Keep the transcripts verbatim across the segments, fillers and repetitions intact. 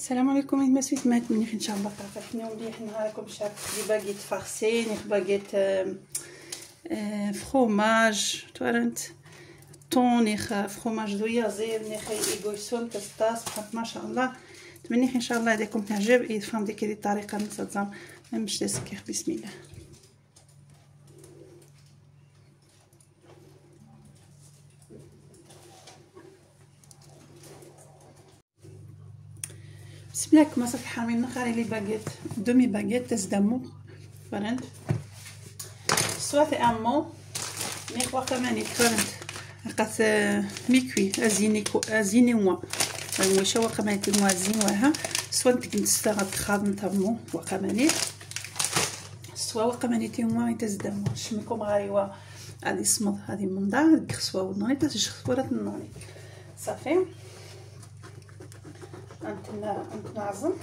السلام عليكم. ما سويت مات مني ان شاء الله فرحنا مليح نهاركم شاف لي باغيت فارسي ني باغيت فروماج تورنت طوني فروماج دويازير ني خي ايغوسون تستاس بحال ما شاء الله. تمني ان شاء الله هذيكم تعجب يفهم ديك الطريقه نتصام مش تسكير. بسم الله. بسم الله. كما صافي حامين نخاري لي باغيت دومي باغيت تاع دامو فرنت سوات امو مي كوا كمان فرنت قات ميكوي ازيني ازيني موا واش هو كمان موازين وها سوات تنستغل خادم تامو وكمان سوا وكمان تي موا تزدامو شمكم غاريوا غادي صمد هذه من دار كسوا ونوني تشخورات النوني صافي. انت انت نعزم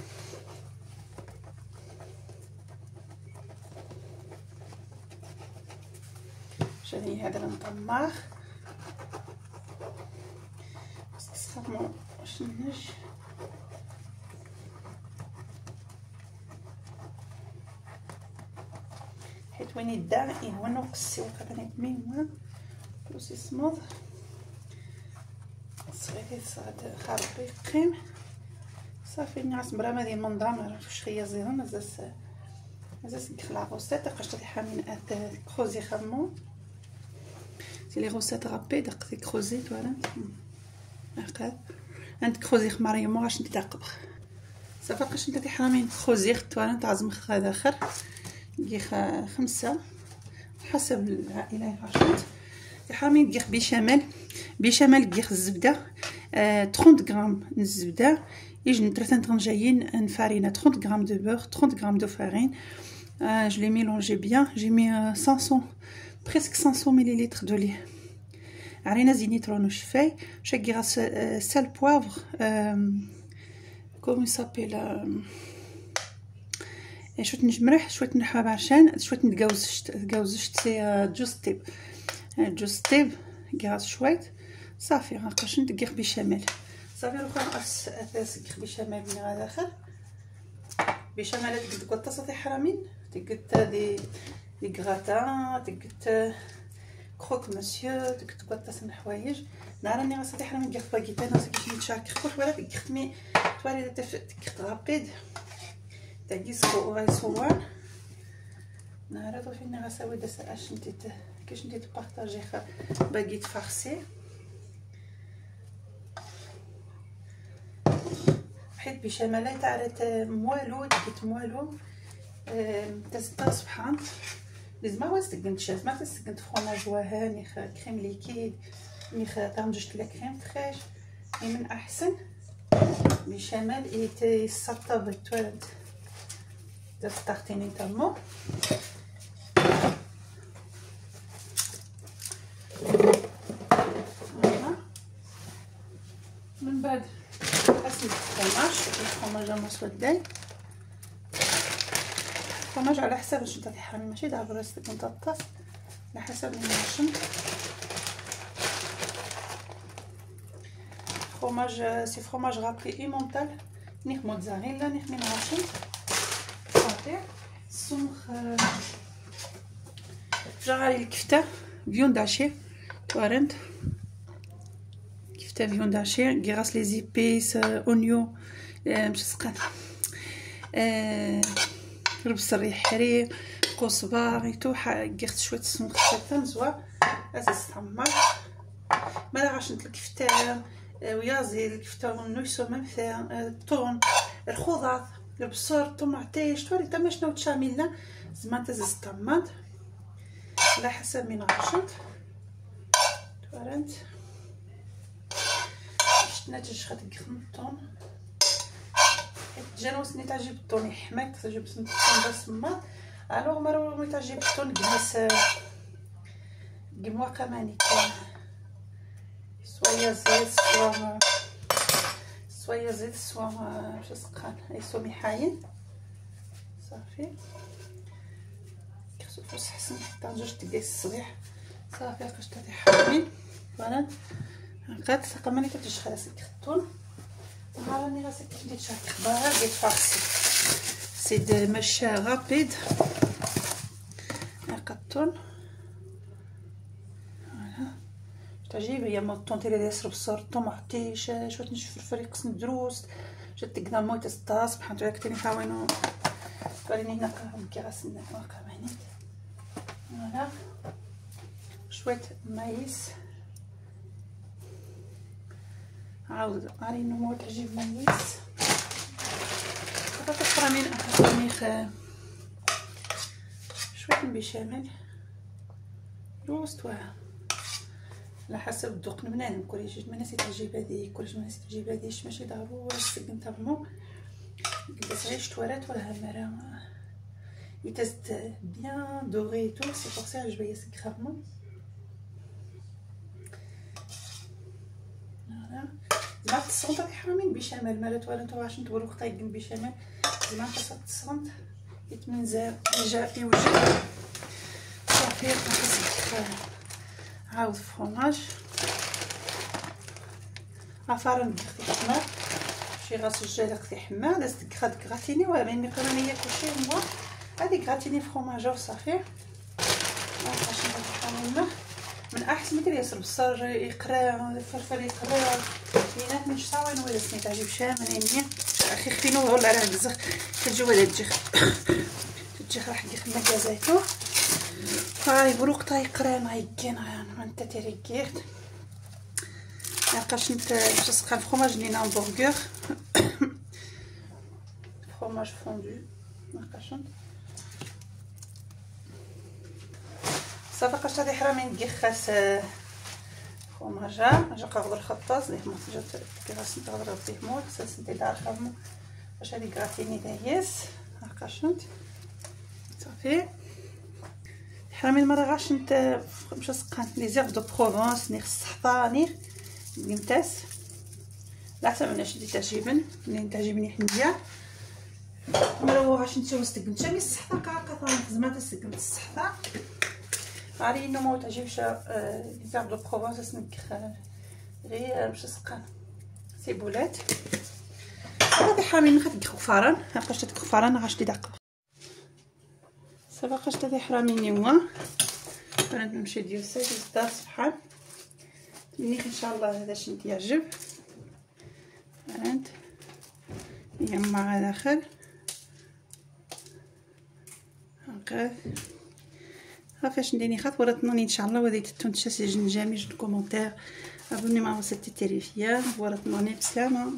شني هذا نطماخ بس تسخمو واش نج حيت وين يدار هو نقصي وكذا ميم وسي صمد صغيري صاد خربي قيم صافي نعس برا هذه المنظر ما عرفتش هي زيرو مازال مازال ندخل غوسيت قشطه حامين ات كروزي خمو سي لي غوسيت رابيد قدي كروزي فوالا هكا عند كروزي خماري مو غاش نتعقب صافي قاش انت حامين كروزي فوالا تعزم هذا اخر كي خمسه حسب العائله عشرة حامين كيخ بشمال بشمال كيخ الزبده ثلاثين غرام الزبده يجن ثلاثة غرام جايين نفارينه ثلاثين غرام دو بور ثلاثين غرام دو فارين. euh, je l'ai mélangé bien. J'ai mis euh, cinq cents presque cinq cents millilitres de lait. عرينا زينيترون وشفاي شكي غاس سال بوافر كوم يسابيل شويه نجمرح شويه نحاب عشان شويه نتجاوزشت تجاوزشت سي جوز طيب جوز طيب غاس شويه صافي غنقاش ندير بشمال صافي روحو نقص اثاث بشمال من هذا اخر بشمال تقد قطه صافي حرامين تقد دي دي غراتان تقد كروك مسيو تقد قطه سن حوايج ناراني غاصافي حرامين كيف باكيت انا سكيت نتشارك كل ولا تقد مي توالي تقد رابيد تاكي سو غاي صوان نهار طوفي ني غاساوي داس اش نتي كاش نتي تبارطاجي باكيت فارسي حيت بشمالة تعرف موالو تقيت موالو تستا سبحان لازم واش تقنت شاز ما تسقنت فروماج وها نيخ كريم ليكيد نيخ طنجت لا كريم فريش من احسن بشمال ايتي سطب توالد تستختيني تمو من بعد الفرماج الفرماج مسوداي الفرماج على حسب واش نتا تحرمي ماشي دابا راسك نتا الطاس على حسب الماشن فرماج سي فرماج رابي ايمونتال نيخ موتزاريلا نيخ من راشن صافي سمخ جاري الكفته فيون داشي توارنت كفته فيون داشي كيغاس لي زيبيس اونيو مش سقان البصل يحري كزبر يتو كيغت شويه السمك حتى نزوا اساس تحمر ما غاش نتل الكفته ويازي الكفته ونويسو ميم فير الثوم الخضار البصل الطماطيش توري تا ماشنو تشاميلنا زعما تزز طماط على حسب من غاشنت تورنت ناتج خدك خمطون جانوسني تعجب الطون يحماك تعجب الطون بس ما الوغ مرو مي تعجب الطون كماس كموا كماني سوايا زيت سوا سوايا زيت سوا واش سقان اي سوا محاين صافي خصو فوس حسن حتى جوج دقائق الصباح صافي قشطه حامين فوالا قاد كماني كتجي خلاص الكرتون راني غاسل كيف ندير شي اخبار ديال فارسي سي دو ماش رابيد كطون فوالا تعجب هي مطون تيري يسرب الصور طوماطي شويه نشوف الفريق قسم دروس جات قدام مويت السطاس بحال تاع كتير نحاولوا قاليني هنا كي غاسلنا كمان فوالا شويه مايس عاود عارين مو تعجب مايس بطاطا فرامين فراميخ شويه بيشامل روست واه على حسب الذوق بنادم كل شي ما ناس تعجب هذه كل شي ما ناس تعجب هذه ماشي ضروري السكن تاعهم قداش عيش توارات ولا همره يتست بيان دوغي تو سي بور سا عجبني سكرامون زعما التصونط هادي حرامين بشمال مالات ولا نتوما واش نتورو طايقين بشمال زعما تصونط التصونط يتمنزل جا يوجد صافي نحس عاود فرomage عفارن ديختي حمار شي غاس الجالق تاع حمار دازت كراد كراتيني ولا ملي قرانيه كلشي هو هادي كراتيني فرomage وصافي باش نحاول من احسن ما ياسر بصر يقرا الفلفل يقرا بينات من شاوين ولا سني تعجب شامنين اخي خفينو ولا راه بزاف كتجي ولا تجي تجي راح دير مكازاتو هاي بروق طاي قرا ما يكين انا انت تريكيت نلقاش انت باش تسقى الفرomage لينا همبرغر فرomage فوندو نلقاش صافي قاش هادي حرامين كيخاس فرomage جا قاغد الخطاز ليه ما جات كيغاس نتغرب فيه مول ساس انت دار خدمو باش هادي كراتيني دايس نلقاشنت صافي حرامين مرة غاش نت باش سقان لي زيغ دو بروفونس نيغ الصحطاني نمتاس لا حتى مناش دي تعجبن اللي تعجبني حنيه مرة غاش نتو استقمت مي الصحطه كاكا زعما تستقمت الصحطه عاري انه ما تعجبش لي زيغ دو بروفونس سنك غير باش سقان سيبولات هادي حرامين نخد كفارن هاكاش تكفارن غاش دي داق سبقاش تاع حراميني هو انا نمشي ديال ساعه الدار سبحان منيخ ان شاء الله هذا شنو يعجب انت يما على اخر هكا فاش نديني خاط وراتنوني ان شاء الله وديت التونت شاسي جنجامي جو كومونتير ابوني مع سيتي تيريفيا وراتنوني بسلامه.